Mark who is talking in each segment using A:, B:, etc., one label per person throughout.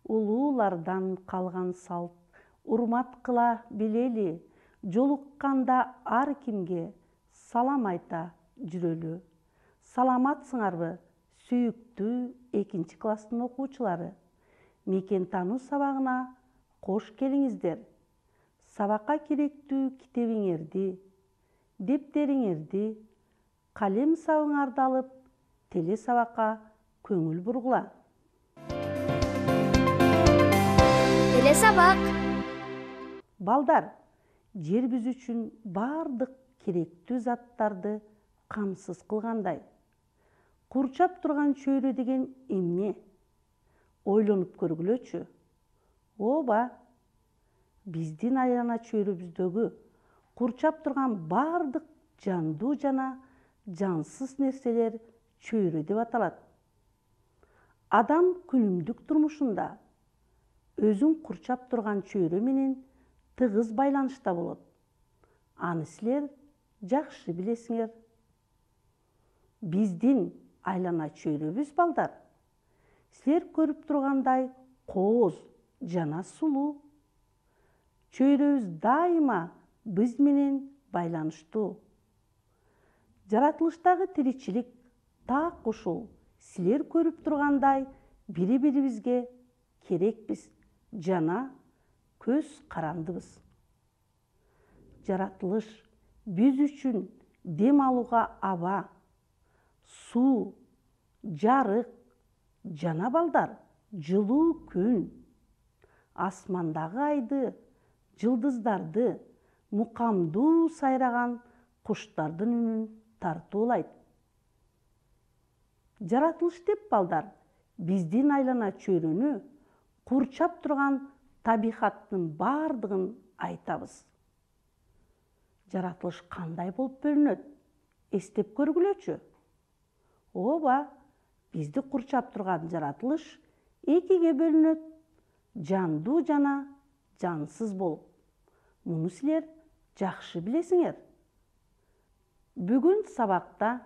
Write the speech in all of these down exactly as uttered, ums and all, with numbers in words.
A: улуулардан калган салт, урмат кыла билели, жолукканда ар кимге салам айта жүрөлү. Саламатсыңарбы, сүйүктүү экинчи класстын окуучулары? Мекен таануу сабагына кош келиңиздер. Сабакка керектүү китебиңерди, дептериңерди, калем сабыңарды алып, теле сабакка көңүл бургула.
B: Теле сабак.
A: Балдар, жер биз үчүн бардык керектүү заттарды камсыз кылгандай. Курчап турган чөйрө деген эмне? Ойлонуп көргүлөчү. Ооба, биздин айлана чөйрөбүздөгү курчап турган бардык жандуу жана жансыз нерселер чөйрө деп аталат. Адам күнүмдүк турмушунда өзүн курчап турган чөйрө менен тыгыз байланышта болот. Аны силер жакшы билесиңер. Биздин айлана чөйрөбүз, балдар, силер көрүп тургандай кооз жана сулуу. Чөйрөбүз дайыма биз менен байланыштуу. Жаратылыштагы тиричилик так ушул силер көрүп тургандай бири-бирибизге керекпиз жана көз карандыбыз. Жаратылыш биз үчүн дем алууга аба, суу, жарык жана, балдар, жылуу күн, асмандагы айды, жылдыздарды, мукамдуу сайраган куштардын үнүн тартуулайт. Жаратылыш деп, балдар, биздин айлана чөйрөнү курчап турган табигаттын бардыгын айтабыз. Жаратылыш кандай болуп бөлүнөт? Эстеп көргүлөчү. Ооба, бизди курчап турган жаратылыш экиге бөлүнөт: жандуу жана жансыз болуп. Муну силер жакшы билесиңер. Бүгүн сабакта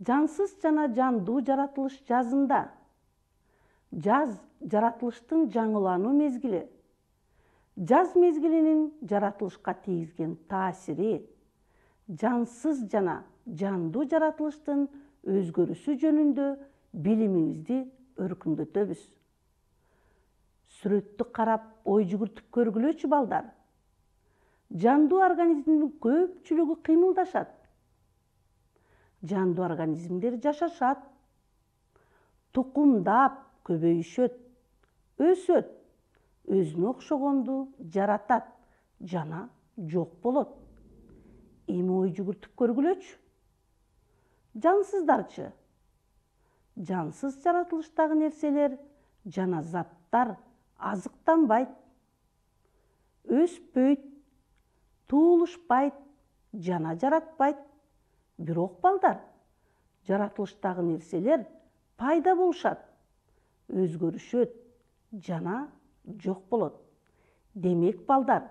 A: жансыз жана жандуу жаратылыш жазында. Жаз жаратылыштын жаңылануу мезгили. Жаз мезгилинин жаратылышка тийгизген таасири, жансыз жана жандуу жаратылыштын өзгөрүшү жөнүндө билимибизди өркүндөтөбүз. Сүрөттү карап ой жүгүртүп көргүлөчү, балдар. Жандуу организмдин көпчүлүгү кыймылдашат. Жандуу организмдер жашашат, тукумдап көбөйүшөт, өсөт, өзүнө окшогонду жаратат жана жок болот. Эми ой жүгүртүп көргүлөчү. Жансыздарчы? Жансыз жаратылыштагы нерселер жана заттар азыктанбайт, өспөйт, туулушпайт жана жаратпайт. Бирок, балдар, жаратылыштагы нерселер пайда болушат, өзгөрүшөт жана жок болот. Демек, балдар,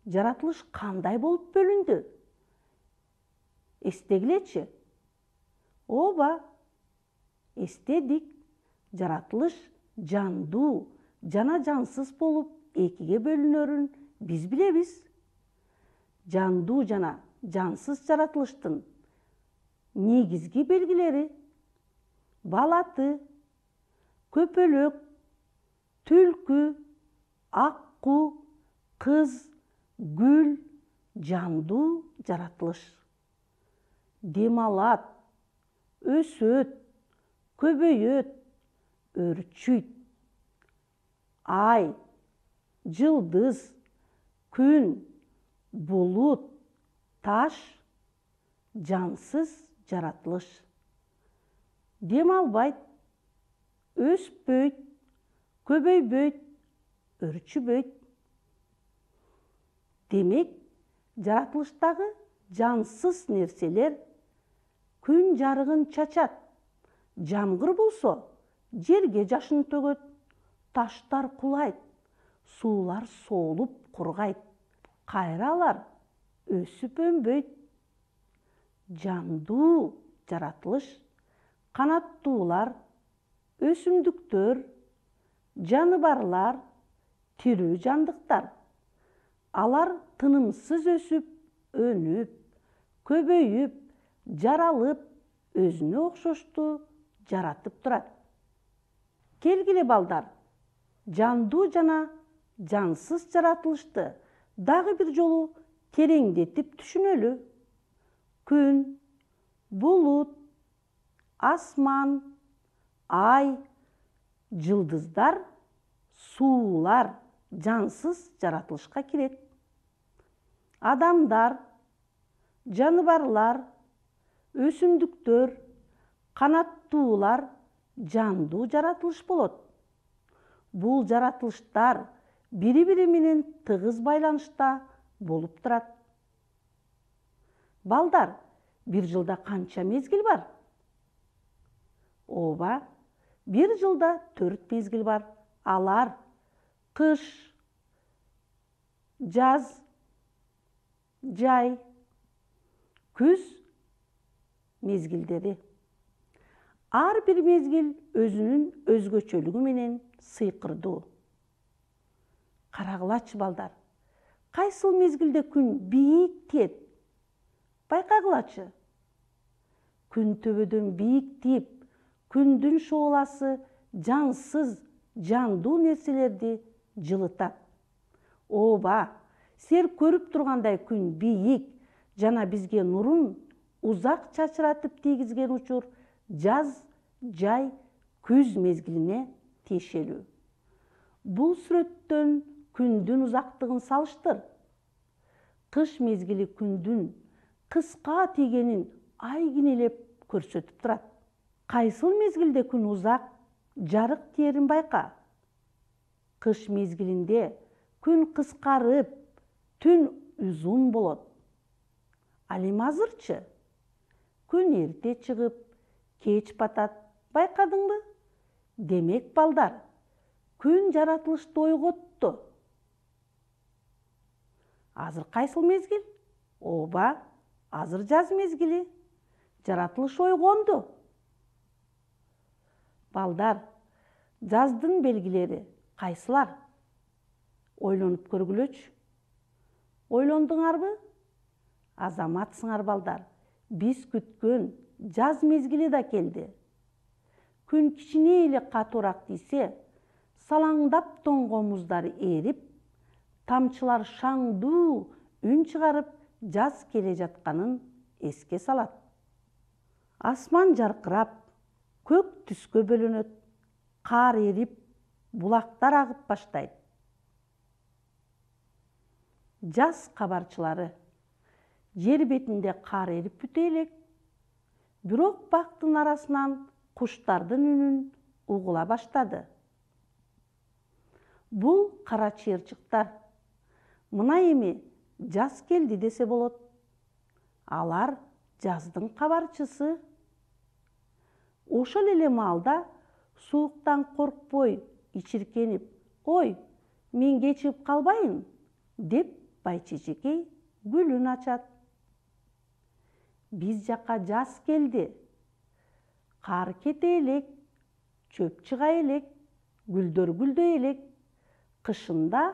A: жаратылыш кандай болуп бөлүндү? Эстегилечи. Ооба, эстедик. Жаратылыш жандуу жана жансыз болуп экиге бөлүнөрүн биз билебиз. Жандуу жана жансыз жаратылыштын негизги белгилери: балаты, көпөлөк, түлкү, акку, кыз, гүл жандуу жаратылыш. Дем алат, өсөт, көбөйөт, өрчүйт. Ай, жылдыз, күн, булут, таш жансыз жаратылыш. Дем албайт, өспөйт, көбөйбөйт, өрчүбөйт. Демек, жаратылыштагы жансыз нерселер күн жарыгын чачат. Жамгыр болсо, жерге жашын төгөт, таштар кулайт, суулар соолуп кургайт. Кайра алар өсүп өнбөйт. Жандуу жаратылыш канаттуулар, өсүмдүктөр, жаныбарлар тирүү жандыктар. Алар тынымсыз өсүп, өнүп, көбөйүп, жаралып, өзүнө окшошту жаратып турат. Келгиле балдар, жандуу жана жансыз жаратылышты дагы бир жолу тереңдетип түшүнөлү. Күн, булут, асман, ай, жылдыздар, суулар жансыз жаратылышка кирет. Адамдар, жаныбарлар, өсүмдүктөр, канаттуулар жандуу жаратылыш болот. Бул жаратылыштар бири-бири менен тыгыз байланышта болуп турат. Балдар, бир жылда канча мезгил бар? Ооба, бир жылда төрт мезгил бар. Алар кыш, жаз, жай, күз мезгилдери. Ар бир мезгил өзүнүн өзгөчөлүгү менен сыйкырдуу. Карагылачы балдар, кайсыл мезгилде күн бийик тиет? Байкагылачы. Күн төбөдөн бийик тийип, күндүн шооласы жансыз, жандуу нерселерди жылытат. Ооба, силер көрүп тургандай күн бийик жана бизге нурун узак чачыратып тийгизген учур жаз, жай, күз мезгилине тиешелүү. Бул сүрөттөн күндүн узактыгын салыштыр. Кыш мезгили күндүн кыска тийгенин айгинелеп көрсөтүп турат. Кайсыл мезгилде күн узак, жарык тиерин байка. Кыш мезгилинде күн кыскарып, түн узун болот. Ал эми азырчы? Күн эрте чыгып, кеч батат. Байкадыңбы? Демек, балдар, күн жаратылышты ойготту. Азыр кайсыл мезгил? Ооба, азыр жаз мезгили. Жаратылыш ойгонду. Балдар, жаздын белгилери кайсылар? Ойлонуп көргүлөчү. Ойлондуңарбы? Азаматсыңар балдар. Биз күткөн жаз мезгили да келди. Күн кичине эле катуураак тийсе, салаңдап тоңгон муздар эрип, тамчылар шаңдуу үн чыгарып, жаз келе жатканын эске салат. Асман жаркырап, көк түскө бөлөнөт, кар эрип, булактар агып баштайт. Жаз кабарчылары: жер бетинде кар эрип бүтө элек. Бирок бактын арасынан куштардын үнүн угула баштады. Бул кара чыйырчыктар. Мына эми жаз келди десе болот. Алар жаздын кабарчысы. Ошол эле маалда сууктан коркпой, ичиркенип, «Ой, мен кечигип калбайын» деп байчежекей гүлүн ачат. Биз жака жаз келди. Кар кете элек, чөп чыга элек, гүлдөр гүлдөй элек. Кышында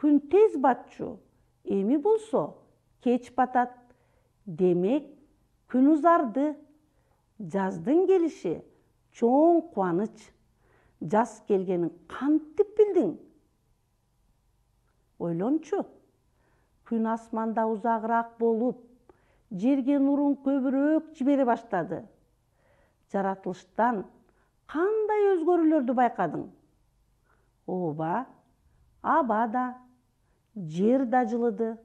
A: күн тез батчу, эми болсо кеч батат. Демек, күн узарды. Жаздын келиши чоң кубаныч. Жаз келгенин кантип билдиң? Ойлончу. Күн асманда узагыраак болуп, жерге нурун көбүрөөк жибере баштады. Жаратылыштан кандай өзгөрүүлөрдү байкадың? Ооба, аба да, жер да жылыды.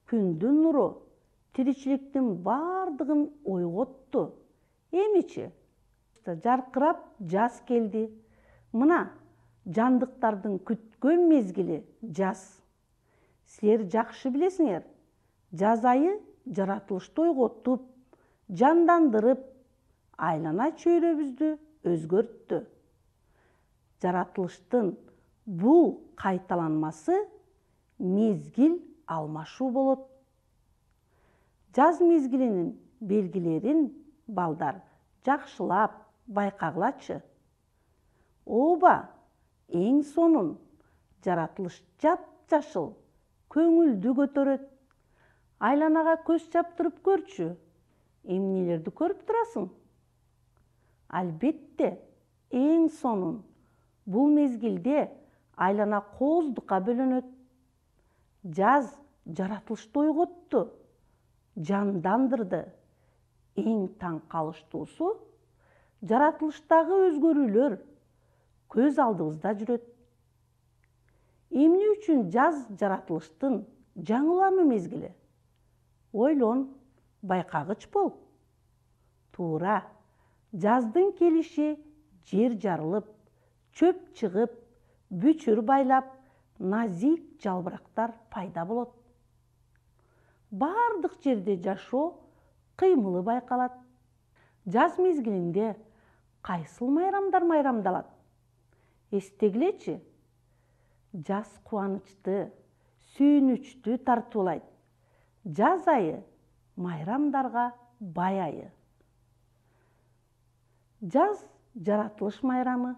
A: Күндүн нуру тиричиликтин бардыгын ойготту. Эмичи? Жаркырап жаз келди. Мына, жандыктардын күткөн мезгили жаз. Силер жакшы билесиңер, жаз айы жаратылышты ойготуп, жандандырып, айлана чөйрөбүздү өзгөрттү. Жаратылыштын бул кайталанмасы мезгил алмашуу болот. Жаз мезгилинин белгилерин балдар жакшылап байкагылачы. Ооба, эң сонун жаратылыш жап-жашыл, көңүлдү көтөрөт. Айланага көз чаптырып көрчү. Эмнелерди көрүп турасың? Албетте, эң сонун. Бул мезгилде айлана кооздукка бөлөнөт. Жаз жаратылышты ойготту, жандандырды. Эң таң калыштуусу жаратылыштагы өзгөрүүлөр көз алдыбызда жүрөт. Эмне үчүн жаз жаратылыштын жаңылануу мезгили? Ойлон, байкагыч бол. Туура, жаздын келиши жер жарылып, чөп чыгып, бүчүр байлап, назик жалбырактар пайда болот. Бардык жерде жашоо кыймылы байкалат. Жаз мезгилинде кайсыл майрамдар майрамдалат? Эстегилечи. Жаз кубанычты, сүйүнүчтү тартуулайт. Жаз айы майрамдарга бай айы. Жаз жаратылыш майрамы.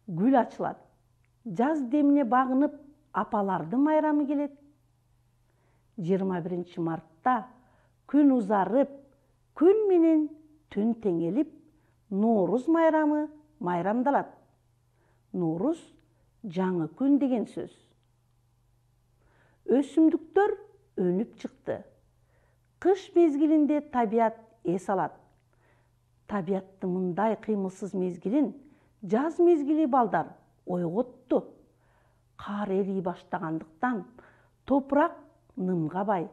A: Гүл ачылат. Жаз демине багынып, апалардын майрамы келет. жыйырма биринчи мартта күн узарып, күн менен түн теңелип, Нооруз майрамы майрамдалат. Нооруз жаңы күн деген сөз. Өсүмдүктөр өнүп чыкты. Кыш мезгилинде табият эс алат. Табияттын мындай кыймылсыз мезгилин жаз мезгили балдар ойготту. Кар эрий баштагандыктан топурак нымга бай.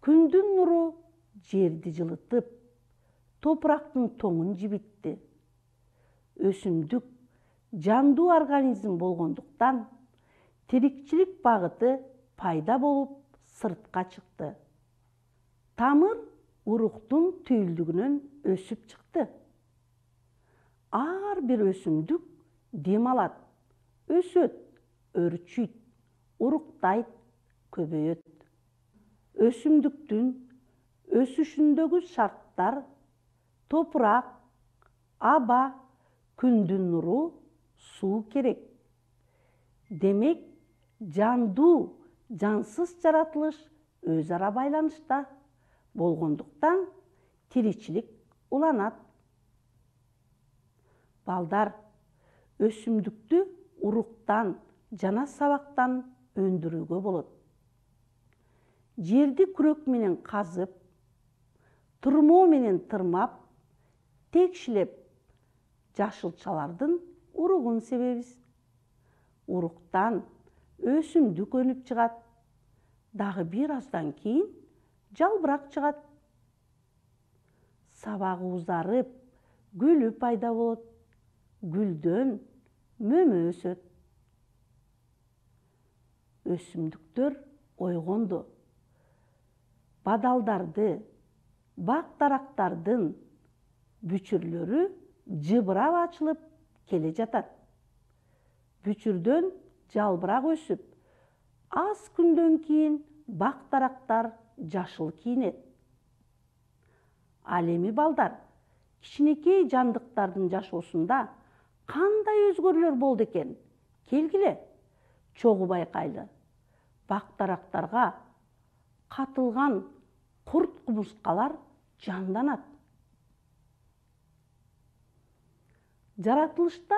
A: Күндүн нуру жерди жылытып, топурактын тоңун жибитти. Өсүмдүк жандуу организм болгондуктан тирикчилик багыты пайда болуп сыртка чыкты. Тамыр уруктун түйүлдүгүнөн өсүп чыкты. Ар бир өсүмдүк дем алат, өсөт, өрчүйт, уруктайт, көбөйөт. Өсүмдүктүн өсүшүндөгү шарттар топурак, аба, күндүн нуру, суу керек. Демек, жандуу, жансыз жаратылыш өз ара байланышта болгондуктан тиричилик уланат. Балдар, өсүмдүктү уруктан жана сабактан өндүрүүгө болот. Жерди күрөк менен казып, турмоо менен тырмап, текшилеп, жашылчалардын уругун себебиз. Уруктан өсүмдүк өнүп чыгат. Дагы бир аздан кийин жалбырак чыгат. Сабагы узарып, гүлү пайда болот. Гүлдөн мөмө өсөт. Өсүмдүктөр ойгонду. Бадалдарды, бак-дарактардын бүчүрлөрү жыбырап ачылып келе жатат. Бүчүрдөн жалбырак өсүп, аз күндөн кийин бак-дарактар жашыл кийинет. Ал эми балдар, кичинекей жандыктардын жашоосунда кандай өзгөрүүлөр болду экен? Келгиле, чогуу байкайлы. Бак-дарактарга катылган курт-кумурскалар жанданат. Жаратылышта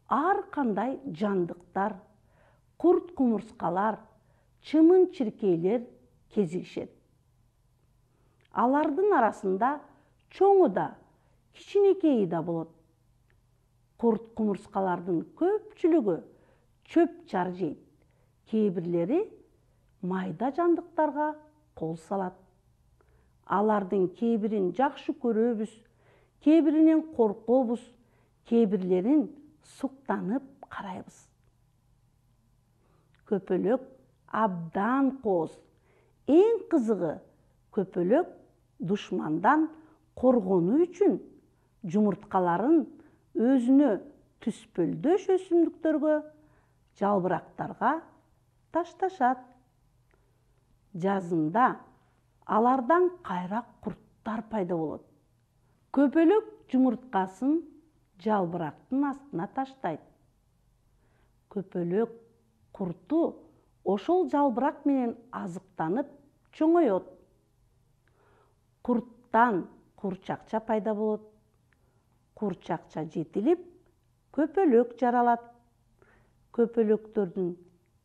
A: ар кандай жандыктар, курт-кумурскалар, чымын-чиркейлер кезигишет. Алардын арасында чоңу да, кичинекейи да болот. Курт-кумурскалардын көпчүлүгү чөп-чар жейт. Кээ бирлери майда жандыктарга кол салат. Алардын кээ бирин жакшы көрөбүз, кээ биринен коркобуз, кээ бирлерин суктанып карайбыз. Көпөлөк абдан кооз. Эң кызыгы, көпөлөк душмандан коргонуу үчүн жумурткаларын өзүнө түспөлдөш өсүмдүктөргө, жалбырактарга ташташат. Жазында алардан кайра курттар пайда болот. Көпөлөк жумурткасын жалбырактын астына таштайт. Көпөлөк курту ошол жалбырак менен азыктанып чоңойот. Курттан курчакча пайда болот. Курчакча жетилип, көпөлөк жаралат. Көпөлөктөрдүн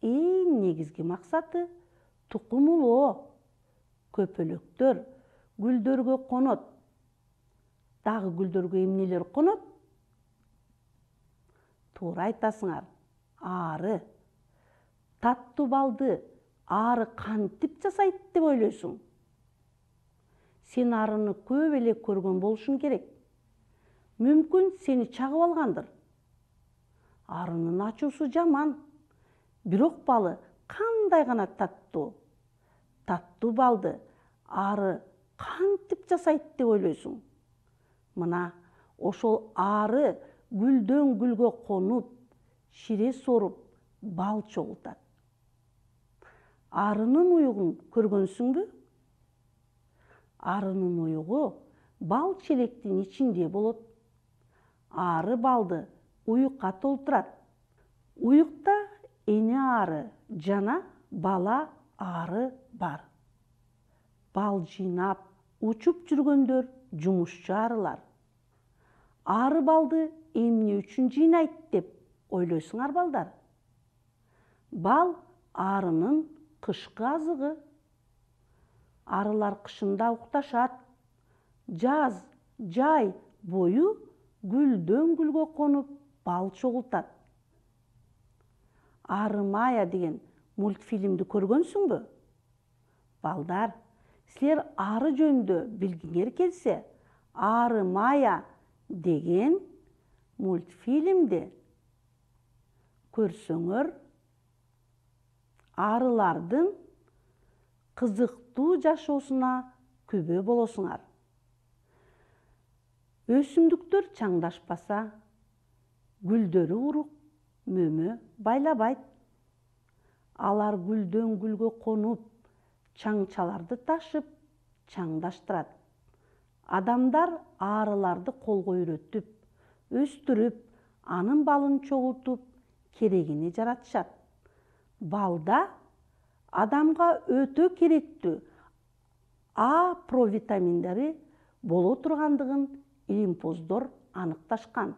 A: эң негизги максаты тукум улоо. Көпөлөктөр гүлдөргө конот. Дагы гүлдөргө эмнелер конот? Туура айтасыңар. Ары. Таттуу балды ары кантип жасайт деп ойлойсуң? Сен арыны көп эле көргөн болушуң керек. Мүмкүн сени чагып алгандыр. Арынын ачуусу жаман. Бирок балы кандай гана таттуу. Таттуу балды ары кантип жасайт деп ойлойсуң? Мына ошол ары гүлдөн гүлгө конуп, шире соруп, бал чогултат. Арынын уюгун көргөнсүңбү? Арынын уюгу бал челектин ичинде болот. Ары балды уюкка толтурат. Уюкта эне ары жана бала ары бар. Бал жыйнап, учуп жүргөндөр жумушчу арылар. Ары балды эмне үчүн жыйнайт деп ойлойсуңар балдар? Бал арынын кышкы азыгы. Арылар кышында укташат. Жаз, жай бою гүлдөн гүлгө конуп, бал чогултат. Ары Мая деген мультфильмди көргөнсүңбү? Балдар, силер ары жөнүндө билгиңер келсе, Ары Мая деген мультфильмди көрсөңөр, арылардын кызыктуу жашоосуна күбө болосуңар. Өсүмдүктөр чаңдашпаса, гүлдөрү урук, мөмө байлабайт. Алар гүлдөн гүлгө конуп, чаңчаларды ташып, чаңдаштырат. Адамдар арыларды колго үйрөтүп, өстүрүп, анын балын чогултуп, керегини жаратышат. Балда адамга өтө керектүү А провитаминдери боло тургандыгын илимпоздор аныкташкан.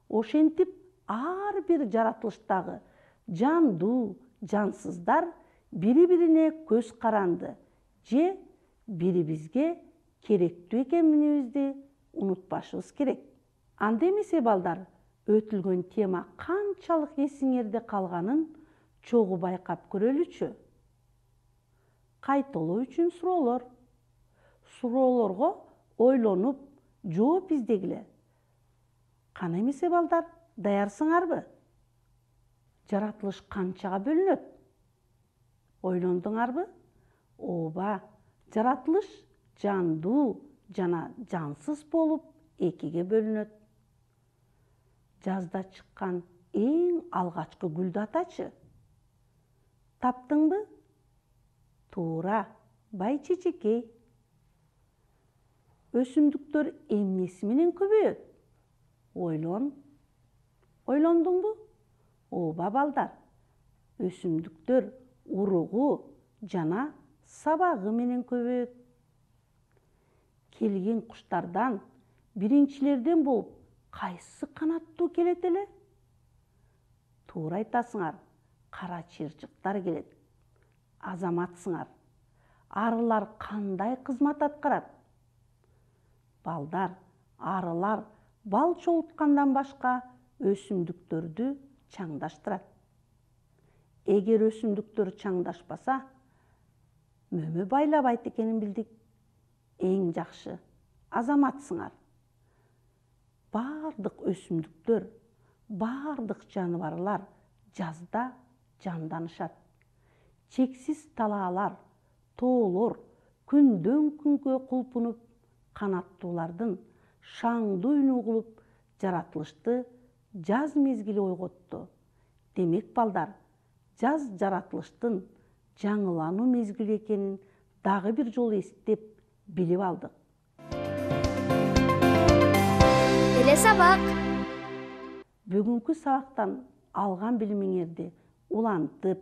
A: Ошентип, ар бир жаратылыштагы жандуу, жансыздар бири-бирине көз каранды же бирибизге керектүү экенибизди унутпашыбыз керек. Анда эмесе балдар, өтүлгөн тема канчалык эсиңерде калганын чогуу байкап көрөлүчү. Кайталоо үчүн суроолор. Суроолорго ойлонуп, жооп издегиле. Кана эмесе балдар, даярсыңарбы? Жаратылыш канчага бөлүнөт? Ойлондуңарбы? Ооба, жаратылыш жандуу жана жансыз болуп экиге бөлүнөт. Жазда чыккан эң алгачкы гүлдү атачы. Таптыңбы? Туура, байчечекей. Өсүмдүктөр эмнеси менен көбөйөт? Ойлон. Ойлондуңбу? Ооба балдар. Өсүмдүктөр уругу жана сабагы менен көбөйөт. Келген куштардан биринчилерден болуп кайсы канаттуу келет эле? Туура айтасыңар, кара чырчыктар келет. Азаматсыңар. Арылар кандай кызмат аткарат? Балдар, арылар бал чогулткандан башка өсүмдүктөрдү чаңдаштырат. Эгер өсүмдүктөр чаңдашпаса, мөмө байлабайт экенин билдик. Эң жакшы, азаматсыңар. Бардык өсүмдүктөр, бардык жаныбарлар жазда жанданышат. Чексиз талаалар, тоолор күндөн күнгө кулпунуп, канаттуулардын шаңдуу үнү угулуп, жаратылышты жаз мезгили ойготту. Демек балдар, жаз жаратылыштын жаңылануу мезгили экенин дагы бир жолу эстеп билип алдык.
B: Эле сабак.
A: Бүгүнкү сабактан алган билимиңерди улантып,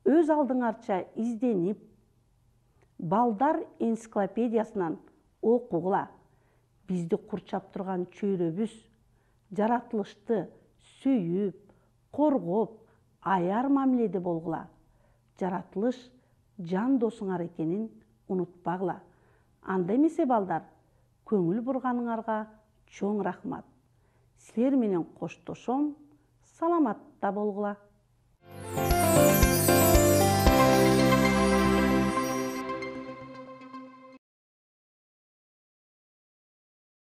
A: өз алдыңарча изденип, балдар энциклопедиясынан окугула. Бизди курчап турган чөйрөбүз жаратылышты сүйүп, коргоп, аяр мамиледе болгула. Жаратылыш жан досуңар экенин унутпагыла. Анда эмесе балдар, көңүл бурганыңарга чоң рахмат. Силер менен коштошом, саламатта болгула.